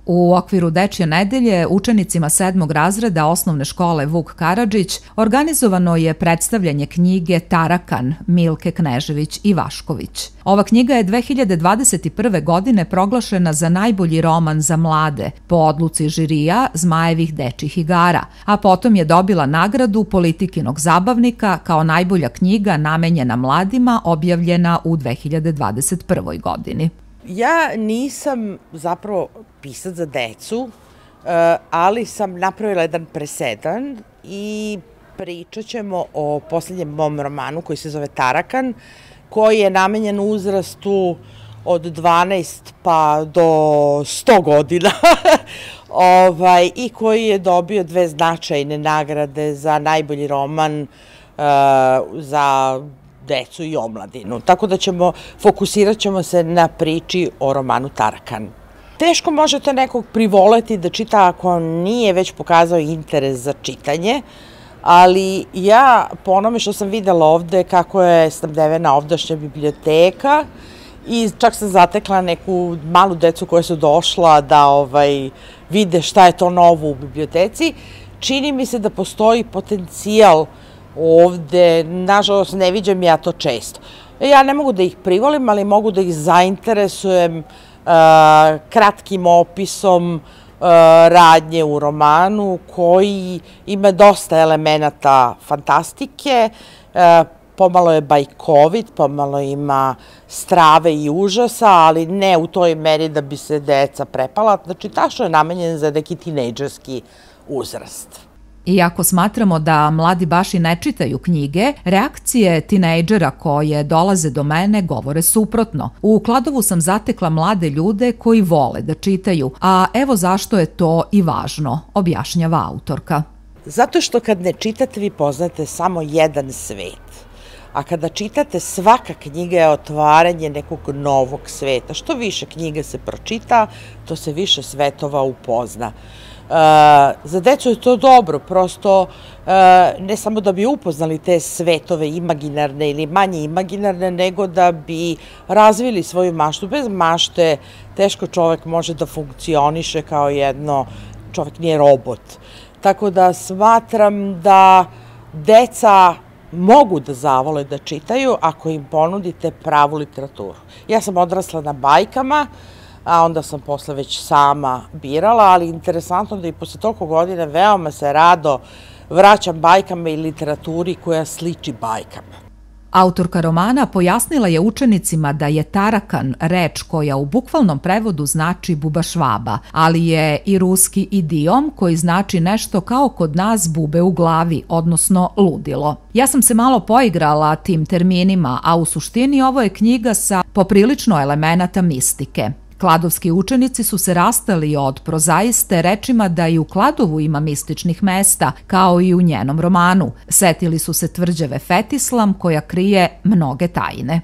U okviru Dečje nedelje učenicima 7. razreda osnovne škole Vuk Karadžić organizovano je predstavljanje knjige Tarakan Milke Knežević i Vašković. Ova knjiga je 2021. godine proglašena za najbolji roman za mlade po odluci žirija Zmajevih dečjih igara, a potom je dobila nagradu Politikinog zabavnika kao najbolja knjiga namenjena mladima objavljena u 2021. godini. Ja nisam zapravo pisac za decu, ali sam napravila jedan presedan i pričat ćemo o posljednjem mom romanu koji se zove Tarakan, koji je namenjen uzrastu od 12 pa do 100 godina i koji je dobio 2 značajne nagrade za najbolji roman za decu i omladinu. Tako da fokusirat ćemo se na priči o romanu Tarakan. Teško možete nekog privoleti da čita ako nije već pokazao interes za čitanje, ali ja po onome što sam videla ovde kako je snabdevena ovdašnja biblioteka i čak sam zatekla neku malu decu koja su došla da vide šta je to novo u biblioteci, čini mi se da postoji potencijal ovde, nažalost ne viđam ja to često. Ja ne mogu da ih privolim, ali mogu da ih zainteresujem kratkim opisom radnje u romanu koji ima dosta elemenata fantastike, pomalo je bajkovit, pomalo ima strave i užasa, ali ne u toj meri da bi se deca prepala. Znači, tačno je namenjen za neki tinejdžerski uzrast. Iako smatramo da mladi baš i ne čitaju knjige, reakcije tinejdžera koje dolaze do mene govore suprotno. U Kladovu sam zatekla mlade ljude koji vole da čitaju, a evo zašto je to i važno, objašnjava autorka. Zato što kad ne čitate vi poznate samo jedan svet, a kada čitate svaka knjiga je otvaranje nekog novog sveta. Što više knjiga se pročita, to se više svetova upozna. Za decu je to dobro, prosto ne samo da bi upoznali te svetove imaginarne ili manje imaginarne, nego da bi razvili svoju maštu. Bez mašte teško čovek može da funkcioniše kao čovek nije robot. Tako da smatram da deca mogu da zavole da čitaju ako im ponudite pravu literaturu. Ja sam odrasla na bajkama, a onda sam posle već sama birala, ali interesantno da i posle toliko godina veoma se rado vraćam bajkama i literaturi koja sliči bajkama. Autorka romana pojasnila je učenicima da je Tarakan reč koja u bukvalnom prevodu znači bubašvaba, ali je i ruski idiom koji znači nešto kao kod nas bube u glavi, odnosno ludilo. Ja sam se malo poigrala tim terminima, a u suštini ovo je knjiga sa poprilično elemenata mistike. Kladovski učenici su se rastali od prozaiste rečima da i u Kladovu ima mističnih mesta, kao i u njenom romanu. Setili su se tvrđave Fetislam koja krije mnoge tajne.